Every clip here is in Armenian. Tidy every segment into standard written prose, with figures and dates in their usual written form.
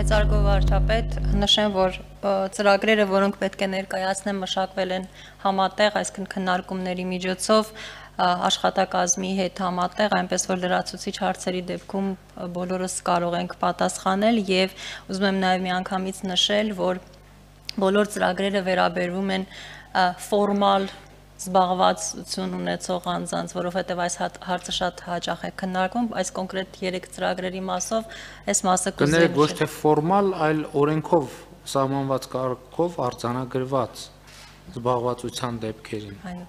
Մեծարգո վարչապետ, նշեմ, որ ծրագրերը, որոնք պետք է ներկայացնեն, մշակվել են համատեղ, այսինքն քննարկումների միջոցով աշխատակազմի հետ համատեղ, այնպես որ լրացուցիչ հարցերի դեպքում բոլորս կարող ենք պատասխանել եւ ուզում եմ նաեւ միանգամից նշել, որ բոլոր ծրագրերը վերաբերվում են ֆորմալ զբաղվածություն ունեցող անձանց, որովհետև այս հարցը շատ հաճախ է քննարկվում, այս կոնկրետ 3 ծրագրերի մասով այս մասը կներեք ոչ թե ֆորմալ, այլ օրենքով սահմանված կարգով արձանագրված զբաղվածության դեպքերին։ Այո։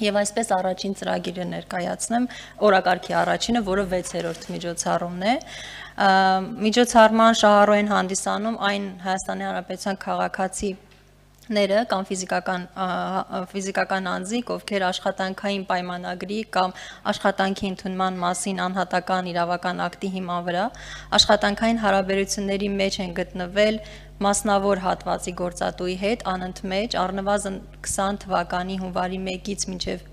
Եվ այսպես առաջին ծրագիրը ներկայացնեմ, օրակարգի առաջինը, որը 6-րդ միջոցառումն է։ Միջոցառման շահառու են հանդիսանում այն Հայաստանի Հանրապետության քաղաքացիները կամ ֆիզիկական անձիկ, ովքեր աշխատանքային պայմանագրի կամ աշխատանքի ընդունման մասին անհատական իրավական ակտի հիման վրա աշխատանքային հարաբերությունների մեջ են գտնվել մասնավոր հատվածի գործատուի հետ անընդմեջ առնվազն 20 թվականի հունվարի 1-ից մինչև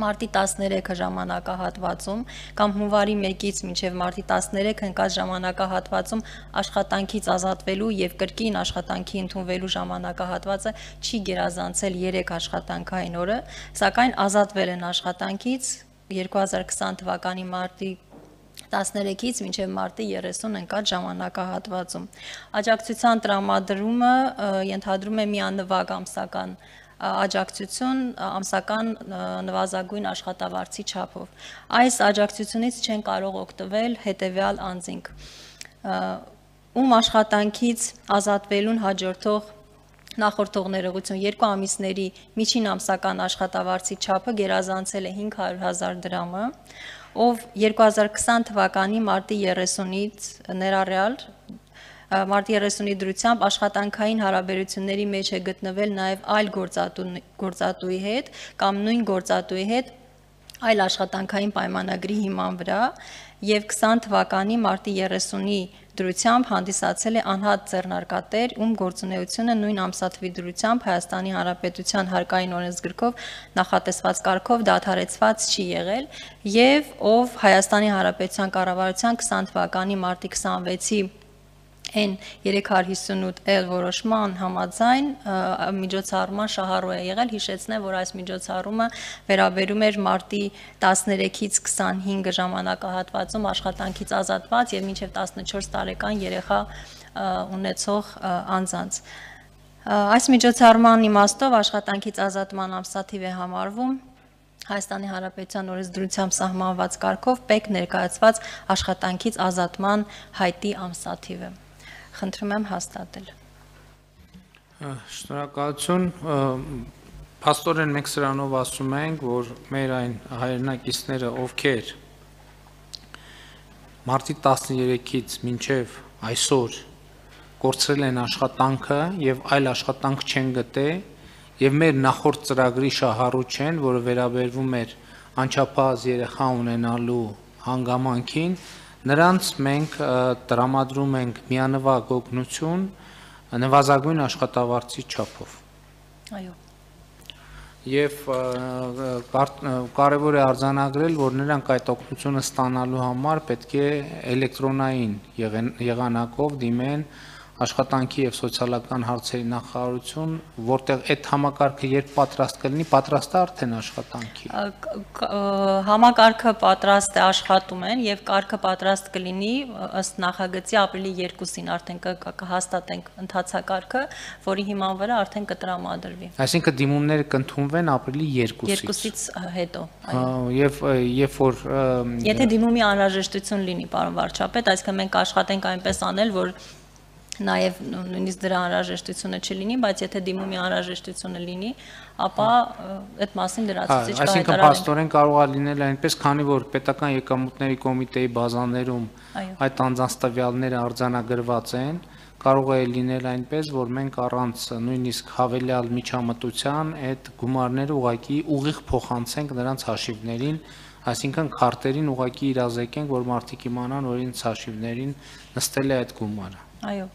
մարտի 13-ը ժամանակահատվածում կամ հունվարի 1-ից մինչև մարտի 13-ը ընկած ժամանակահատվածում աշխատանքից ազատվելու եւ կրկին աշխատանքի ընդունվելու ժամանակահատվածը չի գերազանցել 3 աշխատանքային օրը, սակայն ազատվել են աշխատանքից 2020 թվականի մարտի 13-ից մինչև մարտի 30 ընկած ժամանակահատվածում։ Աջակցության տրամադրումը ենթադրում է միանվագ ամսական աջակցություն ամսական նվազագույն աշխատավարձի չափով։ Այս աջակցությունից չեն կարող օգտվել հետևյալ անձինք, ում աշխատանքից ազատվելուն հաջորդող նախորդող ներողություն 2 ամիսների միջին ամսական աշխատավարձի չափը գերազանցել է 500,000 դրամը, ով 2020 թվականի մարտի 30-ից ներառյալ մարտի 30-ի դրությամբ աշխատանքային հարաբերությունների մեջ է գտնվել նաև այլ գործատուի հետ կամ նույն գործատուի հետ այլ աշխատանքային պայմանագրի հիման վրա եւ 20 թվականի մարտի 30-ի դրությամբ հանդիսացել է անհատ ձեռնարկատեր, ում գործունեությունը նույն ամսաթվի դրությամբ Հայաստանի Հանրապետության հարկային օրենսգրքով նախատեսված կարգով դադարեցված չի եղել եւ ով Հայաստանի Հանրապետության կառավարության 20 թվականի մարտի 26-ի N358L որոշման համաձայն միջոցառման շահառու է եղել, հիշեցնեմ, որ այս միջոցառումը վերաբերում էր մարտի 13-ից 25 ժամանակահատվածում աշխատանքից ազատված եւ մինչեւ 14 տարեկան երեխա ունեցող անձանց։ Այս միջոցառման իմաստով աշխատանքից ազատման ամսաթիվ է համարվում Հայաստանի Հանրապետության օրենսդրությամբ սահմանված կարգով պետք ներկայացված աշխատանքից ազատման հայտի ամսաթիվը։ Խնդրում եմ հաստատել։ Շնորհակալություն։ Փաստորեն մենք սրանով ասում ենք, որ մեր այն հայրենակիցները, ովքեր մարտի 13-ից մինչև այսօր կորցրել են աշխատանքը եւ այլ աշխատանք չեն գտել եւ մեր նախորդ ծրագրի շահառու չեն, որը վերաբերվում էր անչափահաս երեխա ունենալու հանգամանքին, նրանց մենք տրամադրում ենք միանվագ օգնություն նվազագույն աշխատավարձի չափով։ Այո։ Եվ կարևոր է արձանագրել, որ նրանք այդ օգնությունը ստանալու համար պետք է էլեկտրոնային եղանակով դիմեն աշխատանքի եւ սոցիալական հարցերի նախարարություն, որտեղ այդ համակարգը երբ պատրաստ կլինի, պատրաստ է արդեն աշխատանքի։ Համակարգը պատրաստ է, աշխատում են եւ կարգը պատրաստ կլինի ըստ նախագծի ապրիլի 2-ին արդեն կհաստատենք ընթացակարգը, որի հիման վրա արդեն կտրամադրվի։ Այսինքն դիմումները կընդունվեն ապրիլի 2-ից։ 2-ից հետո։ Եվ երբ որ Եթե դիմումի անհրաժեշտություն լինի, պարոն վարչապետ, այսինքն մենք աշխատենք այնպես անել, որ նաև նույնիսկ դրա անհրաժեշտությունը չլինի, բայց եթե դիմումի անհրաժեշտությունը լինի, ապա այդ մասին լրացուցիչ կհայտարարենք։ Այսինքն փաստորեն կարող է լինել այնպես, քանի որ պետական եկամուտների կոմիտեի բազաներում այդ անձանց տվյալները արձանագրված են, կարող է լինել այնպես, որ մենք առանց նույնիսկ հավելյալ միջամտության այդ գումարները ուղղակի ուղիղ փոխանցենք նրանց հաշիվներին, այսինքն քարտերին ուղղակի իրազեկենք, որ մարդիկ իմանան, որ իրենց հաշիվներին նստել է այդ գումարը։ Այո։